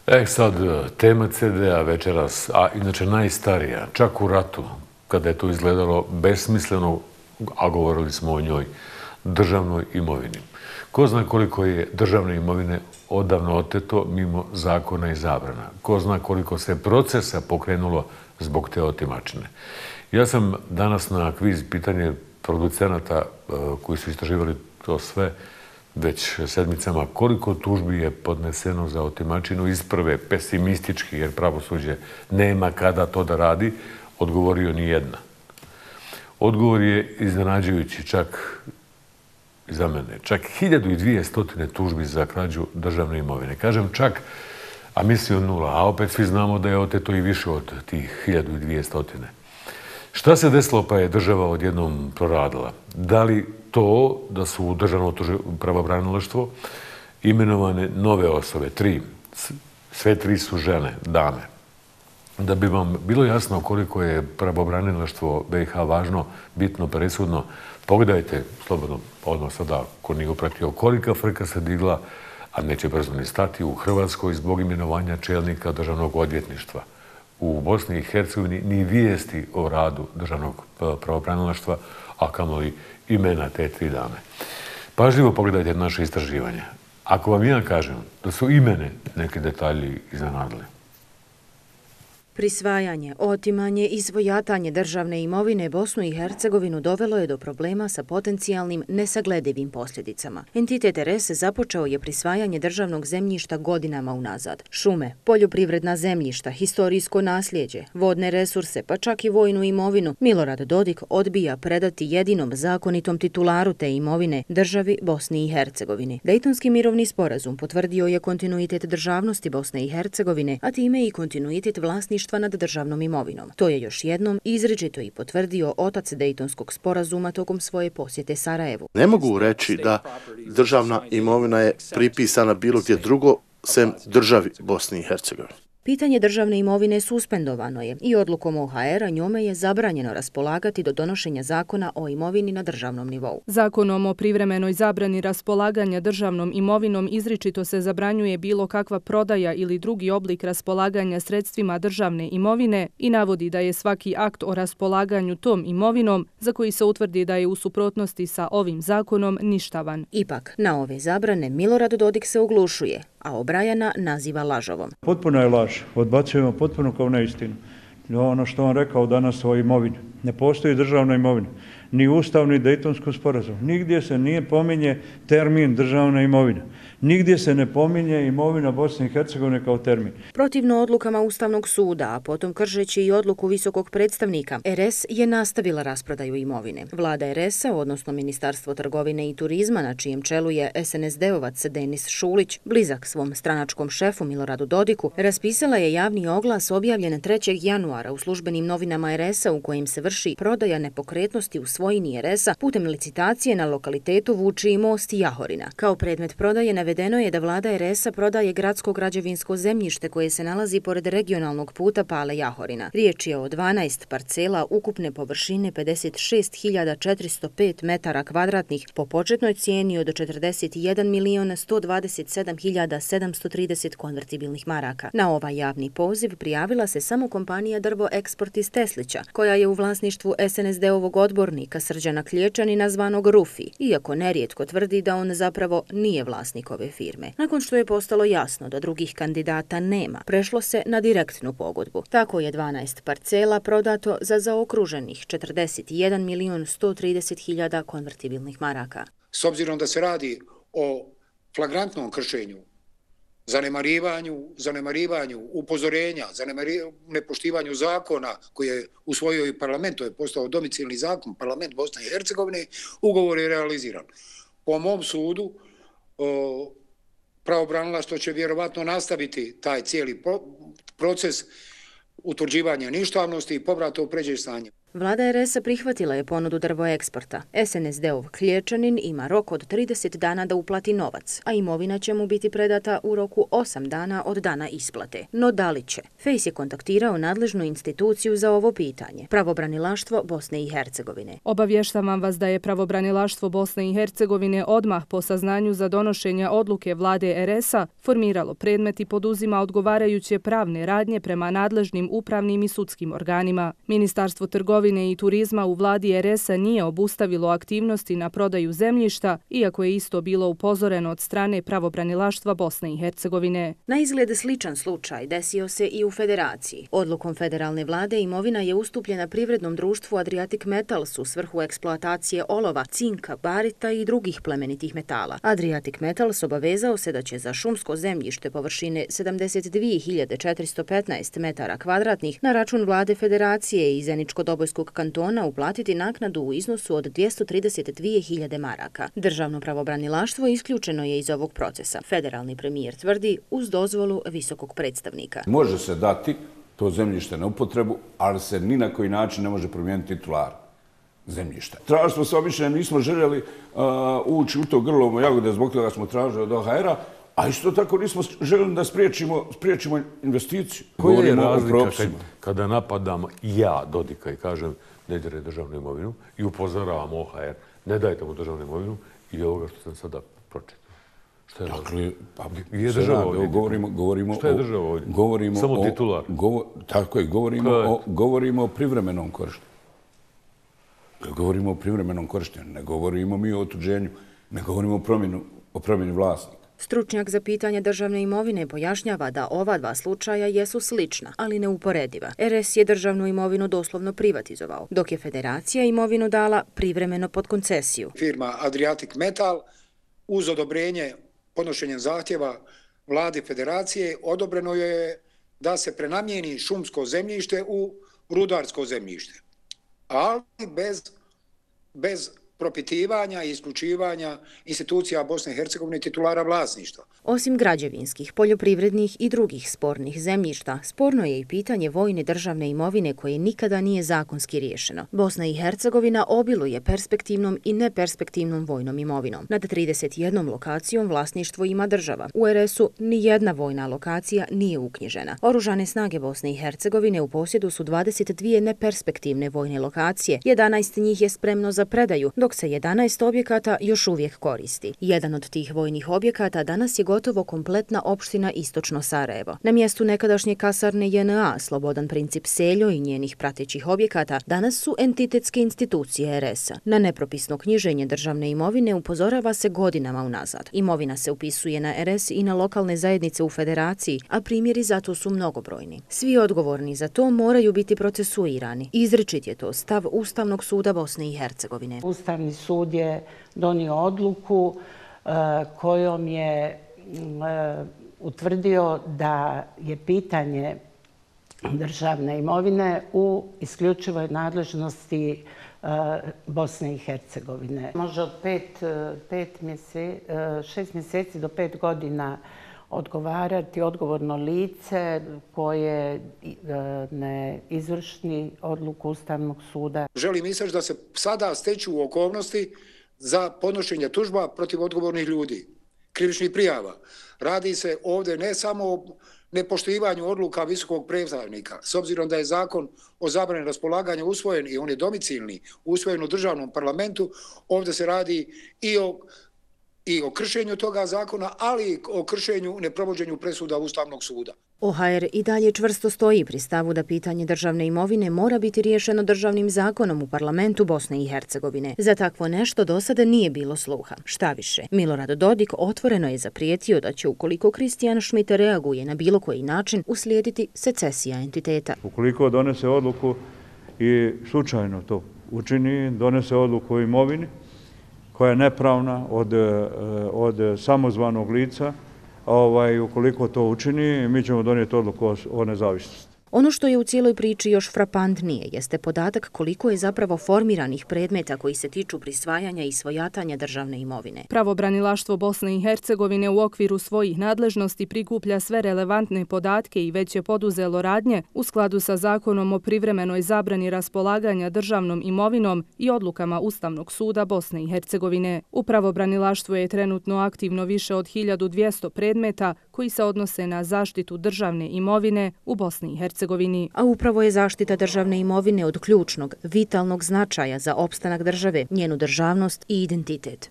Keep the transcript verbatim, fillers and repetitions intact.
E sad, tema ce de a večeras, a inače najstarija, čak u ratu, kada je to izgledalo besmisleno, a govorili smo o njoj, državnoj imovini. Ko zna koliko je državne imovine odavno oteto mimo zakona i zabrana. Ko zna koliko se procesa pokrenulo zbog te otimačine. Ja sam danas na kviz pitanje producenata koji su istraživali to sve već sedmicama, koliko tužbi je podneseno za otimačinu iz prve, pesimistički, jer pravosuđe nema kada to da radi, odgovorio ni jedna. Odgovor je iznenađujući čak za mene. Čak hiljadu i dvjesto tužbi za krađu državne imovine. Kažem čak, a mislio nula, a opet svi znamo da je oteto i više od tih hiljadu i dvjesto. Šta se desilo pa je država odjednom proradila? Da li to da su u državno pravobranilaštvo imenovane nove osobe, tri, sve tri su žene, dame. Da bi vam bilo jasno koliko je pravobranilaštvo be i ha važno, bitno, presudno, pogledajte, slobodno, odmah sada, ko nije upratio, kolika frka se digla, a neće brzo ni stati, u Hrvatskoj zbog imenovanja čelnika državnog odvjetništva. U Bosni i Hercegovini ni vijesti o radu državnog pravobranilaštva, a kamoli imena te tri dame. Pažljivo pogledajte naše istraživanje. Ako vam ja kažem da su i mene neki detalji iznenadili. Prisvajanje, otimanje i svojatanje državne imovine Bosnu i Hercegovinu dovelo je do problema sa potencijalnim nesagledivim posljedicama. Entitet er es započeo je prisvajanje državnog zemljišta godinama unazad. Šume, poljoprivredna zemljišta, historijsko nasljeđe, vodne resurse, pa čak i vojnu imovinu, Milorad Dodik odbija predati jedinom zakonitom titularu te imovine, državi Bosni i Hercegovini. Dejtonski mirovni sporazum potvrdio je kontinuitet državnosti Bosne i Hercegovine, a time i kontinuitet vlasništva nad državnom imovinom. To je još jednom izričito i potvrdio otac Dejtonskog sporazuma tokom svoje posjete Sarajevu. Ne mogu reći da državna imovina je pripisana bilo gdje drugo, sem državi Bosni i Hercegovine. Pitanje državne imovine suspendovano je i odlukom o ha er a njome je zabranjeno raspolagati do donošenja zakona o imovini na državnom nivou. Zakonom o privremenoj zabrani raspolaganja državnom imovinom izričito se zabranjuje bilo kakva prodaja ili drugi oblik raspolaganja sredstvima državne imovine i navodi da je svaki akt o raspolaganju tom imovinom za koji se utvrdi da je u suprotnosti sa ovim zakonom ništavan. Ipak, na ove zabrane Milorad Dodik se oglušuje, a Obrajana naziva lažovom. Potpuno je laž. Odbacujemo potpuno kao neistinu. Ono što on rekao danas o imovini. Ne postoji državna imovina. Ni Ustav, ni Dejtonski sporazum. Nigdje se nije pominje termin državna imovina. Nigdje se ne pominje imovina Bosne i Hercegovine kao termin. Protivno odlukama Ustavnog suda, a potom kršeći i odluku visokog predstavnika, er es je nastavila rasprodaju imovine. Vlada er es a, odnosno Ministarstvo trgovine i turizma, na čijem čelu je es en es de-ovac Denis Šulić, blizak svom stranačkom šefu Miloradu Dodiku, raspisala je javni oglas objavljen trećeg januara u službenim novinama er es a u kojim se vrši prodaja nepokretnosti u svojini er es a putem licitacije na lokalitetu Vučiji most i Jahorina. Kao predmet prodaje navedeno je da vlada er es a prodaje gradsko građevinsko zemljište koje se nalazi pored regionalnog puta Pale Jahorina. Riječ je o dvanaest parcela ukupne površine pedeset šest hiljada četiristo pet metara kvadratnih po početnoj cijeni od četrdeset jedan milion sto dvadeset sedam hiljada sedamsto trideset konvertibilnih maraka. Na ovaj javni poziv prijavila se samo kompanija Drvo Eksport iz Teslića, koja je u vlasništvu es en es de-ovog odbornika Srđana Klječanina zvanog Rufi, iako nerijetko tvrdi da on zapravo nije vlasnik ove firme. Nakon što je postalo jasno da drugih kandidata nema, prešlo se na direktnu pogodbu. Tako je dvanaest parcela prodato za zaokruženih četrdeset jedan milion sto trideset hiljada konvertibilnih maraka. S obzirom da se radi o flagrantnom kršenju, zanemarivanju, zanemarivanju upozorenja, zanemarivanju, nepoštivanju zakona koji je usvojio i parlament, to je postao domicilni zakon, parlament Bosne i Hercegovine, ugovor je realiziran. Po mom sudu, pravobranilaštvo će vjerovatno nastaviti taj cijeli proces utvrđivanja ništavnosti i povrata u pređe stanje. Vlada er es a prihvatila je ponudu Drvoeksporta. es en es de-ov Klječanin ima rok od trideset dana da uplati novac, a imovina će mu biti predata u roku osam dana od dana isplate. No da li će? Fejs je kontaktirao nadležnu instituciju za ovo pitanje, Pravobranilaštvo Bosne i Hercegovine. Obavještavam vas da je Pravobranilaštvo Bosne i Hercegovine odmah po saznanju za donošenje odluke Vlade er es a formiralo predmet i poduzima odgovarajuće pravne radnje prema nadležnim upravnim i sudskim organima. Ministarstvo trgovine i turizma u vladi er es a nije obustavilo aktivnosti na prodaju zemljišta, iako je isto bilo upozoreno od strane Pravobranilaštva Bosne i Hercegovine. Na izgled sličan slučaj desio se i u Federaciji. Odlukom federalne vlade imovina je ustupljena privrednom društvu Adriatic Metals u svrhu eksploatacije olova, cinka, barita i drugih plemenitih metala. Adriatic Metals obavezao se da će za šumsko zemljište površine sedamdeset dvije hiljade četiristo petnaest metara kvadratnih na račun vlade Federacije i Zeničko-Dobojskog kantona uplatiti naknadu u iznosu od dvjesto trideset dvije hiljade maraka. Državno pravobranilaštvo isključeno je iz ovog procesa. Federalni premijer tvrdi uz dozvolu visokog predstavnika. Može se dati to zemljište na upotrebu, ali se ni na koji način ne može promijeniti titular zemljišta. Tražili smo se obično, nismo željeli uh, ući u to grlo jagode, zbog toga smo tražili od o ha era, a isto tako nismo željeli da spriječimo, spriječimo investiciju. Koja je razlika kad, kada napadam ja Dodika i kažem ne dire državnu imovinu i upozoravam o ha er, ne dajte mu državnu imovinu i ovoga što sam sada pročitao? Što je dakle, pa, je država ovdje? Govorimo, govorimo što je država ovdje? Govorimo Samo o, titular. Govo, tako je, govorimo o, govorimo o privremenom korištenju. Govorimo o privremenom korištenju, ne govorimo mi o otuđenju, ne govorimo o promjenu, o promjeni vlasnika. Stručnjak za pitanje državne imovine pojašnjava da ova dva slučaja jesu slična, ali neuporediva. er es je državnu imovinu doslovno privatizovao, dok je Federacija imovinu dala privremeno pod koncesiju. Firma Adriatic Metal uz odobrenje podnošenjem zahtjeva vlade Federacije odobreno je da se prenamijeni šumsko zemljište u rudarsko zemljište, ali bez, bez propitivanja i isključivanja institucija Bosne i Hercegovine titulara vlasništva. Osim građevinskih, poljoprivrednih i drugih spornih zemljišta, sporno je i pitanje vojne državne imovine koje nikada nije zakonski riješeno. Bosna i Hercegovina obiluje perspektivnom i neperspektivnom vojnom imovinom. Nad trideset jednom lokacijom vlasništvo ima država. U er es u ni jedna vojna lokacija nije uknjižena. Oružane snage Bosne i Hercegovine u posjedu su dvadeset dvije neperspektivne vojne lokacije, jedanaest njih je spremno za predaju, dok se jedanaest objekata još uvijek koristi. Jedan od tih vojnih objekata danas je gotovo kompletna opština Istočno Sarajevo. Na mjestu nekadašnje kasarne je en a, Slobodan Princip Seljo i njenih pratećih objekata, danas su entitetske institucije er es a. Na nepropisno knjiženje državne imovine upozorava se godinama unazad. Imovina se upisuje na er es i na lokalne zajednice u Federaciji, a primjeri za to su mnogobrojni. Svi odgovorni za to moraju biti procesuirani. Izričit je to stav Ustavnog suda Bosne i Hercegovine. Ustavni sud je donio odluku uh, kojom je uh, utvrdio da je pitanje državne imovine u isključivoj nadležnosti uh, Bosne i Hercegovine. Može od pet, pet mjese, uh, šest mjeseci do pet godina odgovarati odgovorno lice koje ne izvrši odluku Ustavnog suda. Želim istaći da se sada steću okolnosti za podnošenje tužba protiv odgovornih ljudi, krivičnih prijava. Radi se ovdje ne samo o nepoštivanju odluka visokog predstavnika, s obzirom da je zakon o zabrani raspolaganja usvojen i on je domicilni, usvojen u državnom parlamentu, ovdje se radi i o i o kršenju toga zakona, ali i o kršenju neprovođenju presuda Ustavnog suda. o ha er i dalje čvrsto stoji pri stavu da pitanje državne imovine mora biti riješeno državnim zakonom u parlamentu Bosne i Hercegovine. Za takvo nešto do sada nije bilo sluha. Šta više, Milorad Dodik otvoreno je zaprijetio da će, ukoliko Kristijan Schmidt reaguje na bilo koji način, uslijediti secesija entiteta. Ukoliko donese odluku i slučajno to učini, donese odluku o imovini, koja je nepravna od, od samozvanog lica, ovaj, ukoliko to učini, mi ćemo donijeti odluku o, o nezavisnosti. Ono što je u cijeloj priči još frapantnije jeste podatak koliko je zapravo formiranih predmeta koji se tiču prisvajanja i svojatanja državne imovine. Pravobranilaštvo Bosne i Hercegovine u okviru svojih nadležnosti prikuplja sve relevantne podatke i već je poduzelo radnje u skladu sa zakonom o privremenoj zabrani raspolaganja državnom imovinom i odlukama Ustavnog suda Bosne i Hercegovine. U pravobranilaštvu je trenutno aktivno više od hiljadu dvjesto predmeta koji se odnose na zaštitu državne imovine u Bosni i Hercegovini. A upravo je zaštita državne imovine od ključnog, vitalnog značaja za opstanak države, njenu državnost i identitet.